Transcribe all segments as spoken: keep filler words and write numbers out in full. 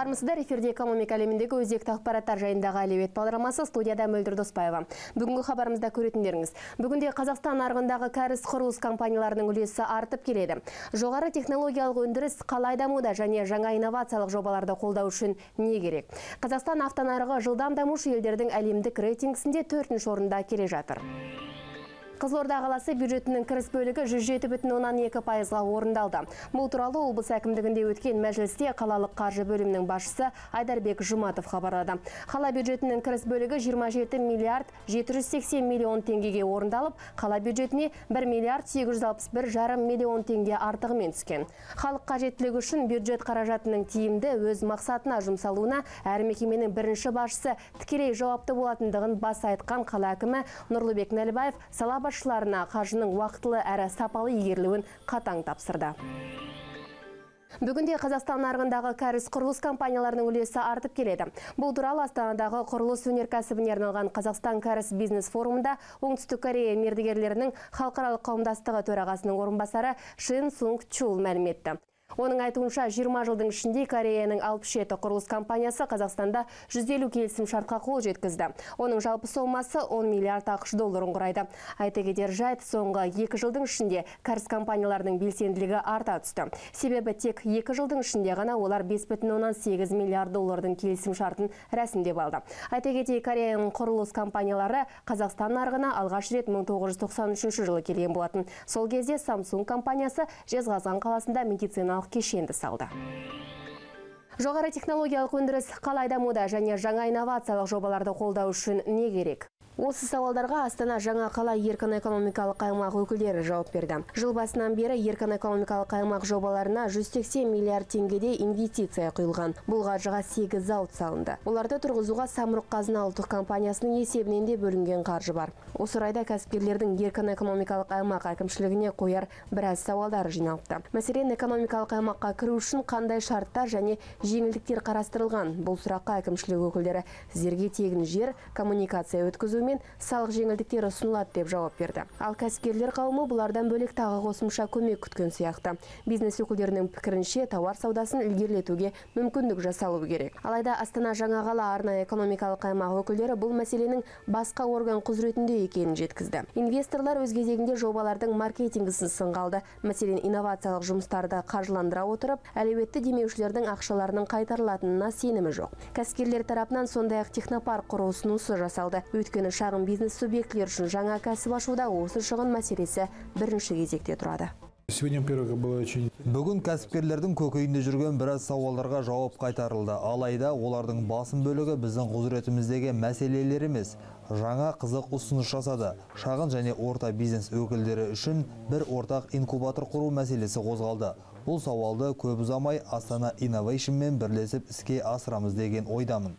Армысыздар, эфирде экономика әлеміндегі өзекті ақпараттар жайындағы әлеует бағдарламасы, студияда Мөлдір Доспаева. Бүгінгі хабарымызда көретіндеріңіз. Бүгінде Қазақстан нарығындағы кәріз құрылыс компанияларының үлесі артып келеді. Жоғары технологиялық өндіріс қалай дамуда және жаңа инновациялық жобаларды қолдау үшін не керек? Қазақстан автонарығы жылдам дамушы елдердің әлемдік рейтингісінде төртінші орында келе жатыр. Қызылорда қаласы бюджетінің кіріс бөлігі жүз жеті бүтін оннан екі пайызға орындалды. Бұл туралы облыс әкімдігінде өткен мәжілісте қалалық қаржы бөлімінің басшысы Айдарбек Жұматов хабарлады. Қала бюджетінің кіріс бөлігі жиырма жеті миллиард жеті жүз сексен миллион теңгеге орындалып, қала бюджетіне бір миллиард сегіз жүз алпыс бір жарым миллион теңге артығымен түскен. Халық қажеттілігі үшін бюджет қаражатының тиімді өз мақсатына жұмсалуына әр мекеменің бірінші басшысы тікелей жауапты болатындығын баса айтқан қала әкімі Нұрлыбек Нәлібаев сала басшыларына қаржының уақытылы әрі сапалы игерілуін қатаң тапсырды. Бүгінде Қазақстан нарығындағы кәріз құрылыс компанияларының үлесі артып келеді. Бұл туралы Астанадағы құрылыс өнеркәсібіне арналған Қазақстан кәріз бизнес форумында Оңтүстік Корея мердігерлерінің халықаралық қауымдастығы төрағасының орынбасары Шин Сунг Чул мәлім етті. Оның айтуынша жиырма жылдың ішінде Кореяның алпыс жеті құрылыс компаниясы Қазақстанда жүз елу келісім шартқа қол жеткізді. Оның жалпы сомасы он миллиард ақш долларын құрайды. Айта кетер жайт, соңғы екі жылдың ішінде кәріз компанияларының белсенділігі арта түсті. Себебі тек екі жылдың ішінде ғана олар бес бүтін оннан сегіз миллиард доллардың келісім шартын рәсімдеп алды. Айта кетейік, Кореяның құрылыс компаниялары Қазақстан нарығына алғаш рет мың тоғыз жүз тоқсан үшінші жылы келген болатын. Сол кезде Samsung компаниясы Жезқазған қаласында медициналық кешенді салды. Жоғары технологиялық өндіріс қалай дамуда және жаңа инновациялық жобаларды қолдау үшін не керек? Осы сауалдарға Астана жаңа қала еркін экономикалық аймақ өкілдері жауап берді. Жыл басынан бері еркін экономикалық аймақ жобаларына жүз сексен миллиард теңгеде инвестиция құйылған. Бұл қаржыға сегіз зауыт салынды. Оларды тұрғызуға Самұрық-Қазына ұлттық компаниясының есебінен де бөлінген қаржы бар. Осы орайда кәсіпкерлердің еркін экономикалық аймақ әкімшілігіне қояр біраз сауалдары жиналыпты. Мәселен, экономикалық аймаққа кіру үшін қандай шарттар және жеңілдіктер қарастырылған? Бұл сұраққа әкімшілік өкілдері сіздерге тегін жер, коммуникация өткізу мен салық жеңілдіктері ұсынылады деп жауап берді. Ал кәсіпкерлер қауымы бұлардан бөлек тағы қосымша көмек күткен сияқты. Бизнес өкілдерінің пікірінше тауар саудасын ілгерілетуге мүмкіндік жасалу керек. Алайда Астана жаңа қала арнайы экономикалық аймақ өкілдері бұл мәселенің басқа орган құзыретінде екенін жеткізді. Инвесторлар өз кезегінде жобалардың маркетингісін сынға алды. Мәселен, инновациялық жұмыстарды қаржыландыра отырып, әлеуетті демеушілердің ақшаларының қайтарылатынына сенімі жоқ. Кәсіпкерлер тарапынан сондай-ақ технопарк құру ұсынысы жасалды. Өйткені шағын бизнес субъектілер үшін жаңа кәсіп ашуда осы шығын мәселесі бірінші кезекте тұрады. Бүгін кәсіпкерлердің көкейінде жүрген біраз сауалдарға жауап қайтарылды. Алайда олардың басым бөлігі біздің құзыретіміздегі мәселелер емес. Жаңа қызық ұсыныс жасады. Шағын және орта бизнес өкілдері үшін бір ортақ инкубатор құру мәселесі қозғалды. Бұл сауалды көп ұзамай Астана Инновейшнмен бірлесіп іске асырамыз деген ойдамын.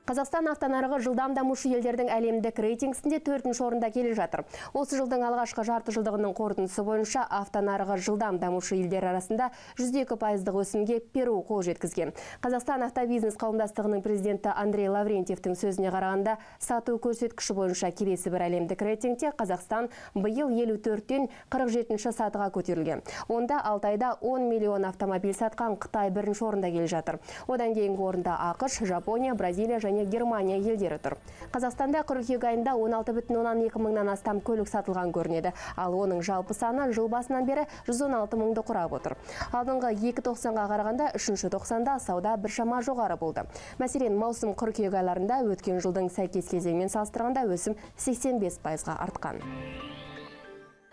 Қазақстан автонарығы жылдам дамушы елдердің әлемдік рейтингісінде төртінші орында келе жатыр. Осы жылдың алғашқы жарты жылдығының қорытындысы бойынша автонарығы жылдам дамушы елдер арасында жүз екі пайыздық өсімге Перу қол жеткізген. Қазақстан автобизнес қауымдастығының президенті Андрей Лаврентьевтің сөзіне қарағанда, сату көрсеткіші бойынша келесі бір әлемдік рейтингте Қазақстан биыл елу төрттен қырық жетінші сатыға көтерілген. Онда алты айда он миллион автомобиль сатқан Қытай бірінші орында келе жатыр. Одан кейінгі орында ақш, Жапония, Бразилия және Германия елдері тұр. Қазақстанда қыркүйек айында он алты бүтін оннан екі мыңнан астам көлік сатылған көрінеді. Ал оның жалпы саны жыл басынан бері жүз он алты мыңды құрап отыр. Алдыңғы екі тоқсанға қарағанда үшінші тоқсанда сауда біршама жоғары болды. Мәселен, маусым қыркүйек айларында өткен жылдың сәйкес кезеңімен салыстырғанда өсім сексен бес пайызға артқан.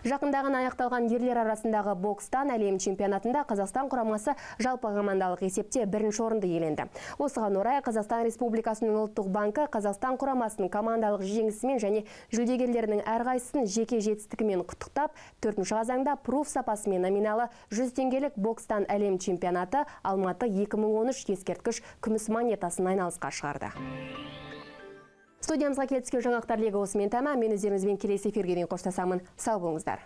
Жақындаған аяқталған ерлер арасындағы бокстан әлем чемпионатында Қазақстан құрамасы жалпы командалық есепте бірінші орынды иеленді. Осыған орай Қазақстан Республикасының ұлттық банкі Қазақстан құрамасының командалық жеңісімен және жүлдегерлерінің әрқайсысын жеке жетістігімен құттықтап, төртінші қазанда пруф сапасымен номиналы жүз теңгелік бокстан әлем чемпионаты Алматы екі мың он үш ескерткіш күміс монетасын айналысқа шығарды. Студиямызға келіп түскен жаңалықтар легі осымен тәмам. Мен өздеріңізбен келесі эфирге дейін қоштасамын. Сау болыңыздар.